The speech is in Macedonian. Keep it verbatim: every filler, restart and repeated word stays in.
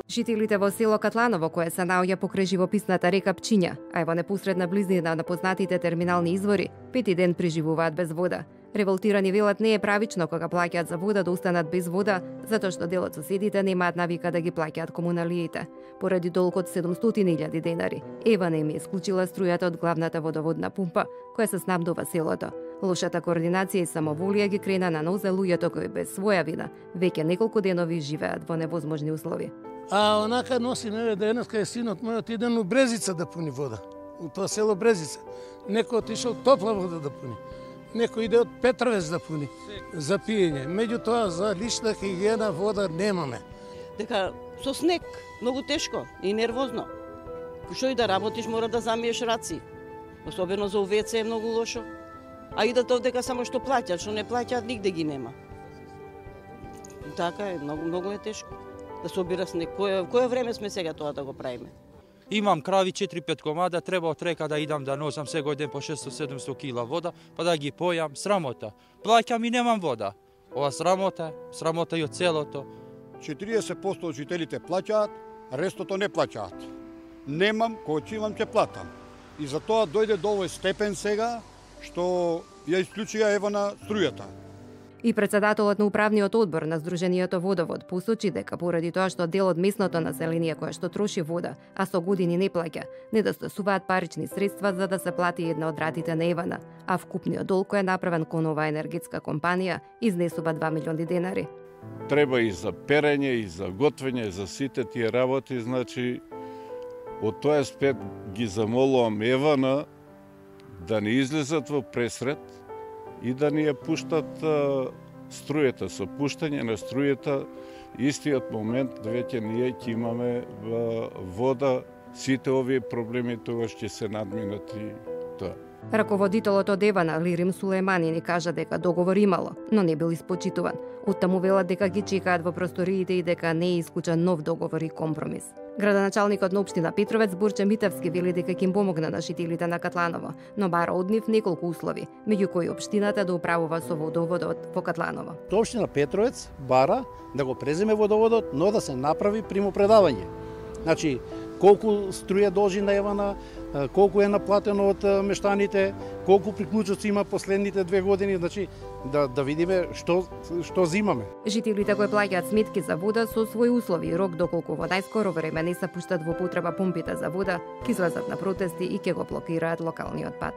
Жителите во село Катланово, кое се наоѓа покрај живописната река Пчиња, а е во непосредна близнина на познатите терминални извори, пети ден преживуваат без вода. Револтирани велат не е правично кога плаќаат за вода да останат без вода, затоа што дел од соседите немаат навика да ги плаќаат комуналиите. Поради долг од седумстотини илјади денари, Евана им е исклучила струјата од главната водоводна пумпа, која се снабдува селото. Лошата координација и самоволија ги крена на нозе луѓето кои без своја вина веќе неколку денови живеат во невозможни услови. А онака носи еве да еднашка е синот мојот иден у Брезица да пуни вода. У тоа село Брезица. Некој отишол топла вода да пуни. Некој иде од Петровец да пуни за пиење. Меѓутоа за лична хигиена вода немаме. Дека со снег многу тешко и нервозно. Што и да работиш мора да замиеш раци. Особено за УВЦ е многу лошо. А и да дека само што плаќаат, што не плаќаат нигде ги нема. И така е, многу многу е тешко. Да собира снег. Кое кое време сме сега тоа да го правиме? Имам крави четири-пет комада, треба од река да идам да носам секој ден по шесто-седумсто кила вода, па да ги појам, срамота. Плаќам и немам вода. Ова срамота, срамота и од целото. четириесет проценти од жителите плаќаат, рестото не плаќаат. Немам, кога ќе имам ќе платам. И затоа дојде до овој степен сега што ја исклучија Евана струјата. И председателот на управниот одбор на Сдруженијето Водовод посочи дека поради тоа што дел од местното население кое што троши вода, а со години не плаќа, недостасуваат парични средства за да се плати една од ратите на Евана, а вкупниот долг кој е направен кон оваа енергетска компанија изнесува два милиони денари. Треба и за перење, и за готвење, за сите тие работи, значи од тој аспект ги замолувам Евана да не излезат во пресред и да ни ја пуштат а, струјата. Со пуштање на струјата, истиот момент веќе ние ќе имаме а, вода, сите овие проблеми тогаш ќе се надминат и тоа. Раководителот од Евана, Лирим Сулеймани, ни кажа дека договор имало, но не бил испочитуван. Оттаму велат дека ги чекаат во просториите и дека не е исклучен нов договор и компромис. Градоначалникот на општина Петровец Борче Митевски вели дека ќе им помогна на жителите на Катланово, но бара од нив неколку услови, меѓу кои општината да управува со водоводот во Катланово. Општина Петровец бара да го преземе водоводот, но да се направи примопредавање. Значи, колку струја должи на Евана, колку е наплатено од мештаните, колку приклучоци има последните две години, значи да да видиме што што зимаме. Жителите кои плаќаат сметки за вода со своји услови и рок доколку во најскоро време не се пуштат во употреба помпите за вода, ќе излезат на протести и ќе го блокираат локалниот пат.